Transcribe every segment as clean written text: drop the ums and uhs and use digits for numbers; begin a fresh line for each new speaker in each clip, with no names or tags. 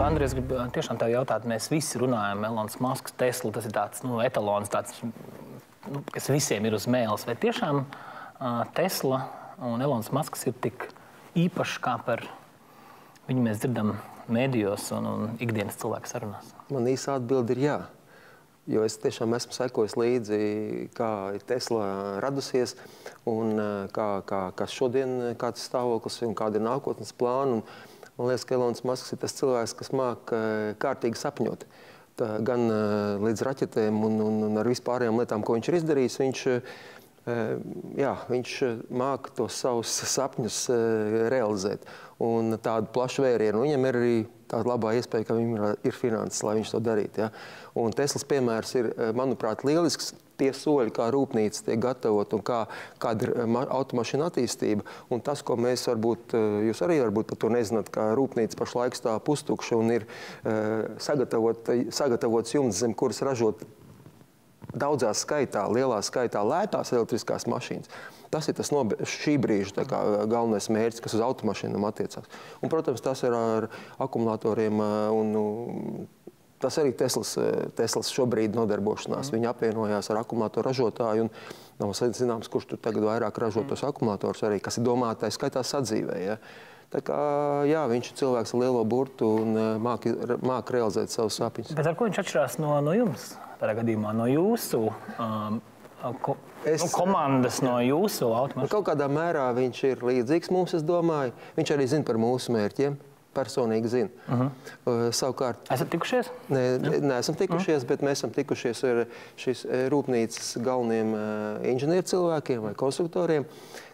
Andri, es gribu tiešām tev jautāt, mēs visi runājam, Elonas Masks, Tesla, tas ir tāds, etalons, tāds, kas visiem ir uz mēles. Vai tiešām Tesla un Elonas Masks ir tik īpaši, kā par viņu mēs dzirdam mēdījos un ikdienas cilvēku sarunās?
Man īsa atbilde ir jā. Jo es tiešām esmu sekojis līdzi, kā Tesla radusies un kas šodien, kāds stāvoklis un kāda ir nākotnes plāna. Man liekas, ka Elonas Masks ir tas cilvēks, kas māk kārtīgi sapņot. Gan līdz raķetēm un ar vispārējām lietām, ko viņš ir izdarījis, viņš māk tos savus sapņus realizēt. Un tādu plašu vērienu. Viņam ir arī tāda labā iespēja, ka viņam ir finanses, lai viņš to darītu. Ja? Un Teslas piemērs ir, manuprāt, lielisks. Tie soļi, kā rūpnīca tiek gatavot un kāda ir automašīna attīstība. Un tas, ko mēs varbūt, jūs arī varbūt par to nezināt, ka rūpnīca pašlaik stāv pustukša un ir sagatavots jumts, zem kuras ražot daudzā skaitā, lielā skaitā lētās elektriskās mašīnas. Tas ir tas šī brīža galvenais mērķis, kas uz automašīnām attiecās. Un, protams, tas ir ar akumulatoriem un tas arī Teslas šobrīd nodarbošanās. Viņi apvienojās ar akumulātoru ražotāju un nav zināms, kurš tur tagad vairāk ražo tos akumulators arī, kas ir domātais skaitā sadzīvē. Ja? Tā kā, jā, viņš ir cilvēks ar lielo burtu un māk realizēt savus sapņus.
Bet ar ko viņš atšķirās no jums? Tādā gadījumā no jūsu komandas, no jūsu automašīnas?
Kaut kādā mērā viņš ir līdzīgs mums, es domāju. Viņš arī zina par mūsu mērķiem. Personīgi zina. Savukārt...
Esat tikušies?
Neesam tikušies, bet mēs esam tikušies ar šīs rūpnīcas galveniem inženieru cilvēkiem vai konstruktoriem,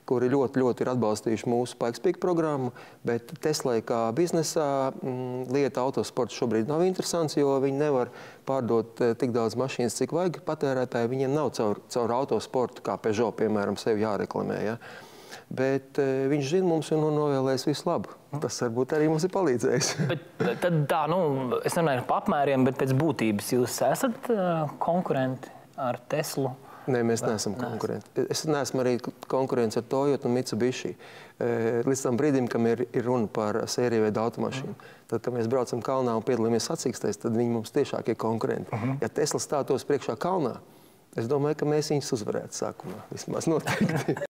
kuri ļoti ir atbalstījuši mūsu Pikespīka programmu, bet Teslai kā biznesā lieta autosports šobrīd nav interesants, jo viņi nevar pārdot tik daudz mašīnas, cik vajag patērētāji. Viņiem nav caur autosportu, kā Peugeot, piemēram, sevi jāreklamē. Ja? Bet viņš zina mums un novēlēs visu labu. Tas varbūt arī mums ir palīdzējis.
Bet tad tā, es nerunāju par apmēriem, bet pēc būtības jūs esat konkurenti ar Teslu?
Nē, mēs neesam konkurenti. Es neesmu arī konkurents ar Toyota un Mitsubishi. Līdz tam brīdim, kam ir runa par sēriju veidu automašīnu. Tad, kad mēs braucam kalnā un piedalāmies sacīkstēs, tad viņi mums tiešāk ir konkurenti. Ja Tesla stātos priekšā kalnā, es domāju, ka mēs viņus uzvarētu sākumā. Vismaz noteikti.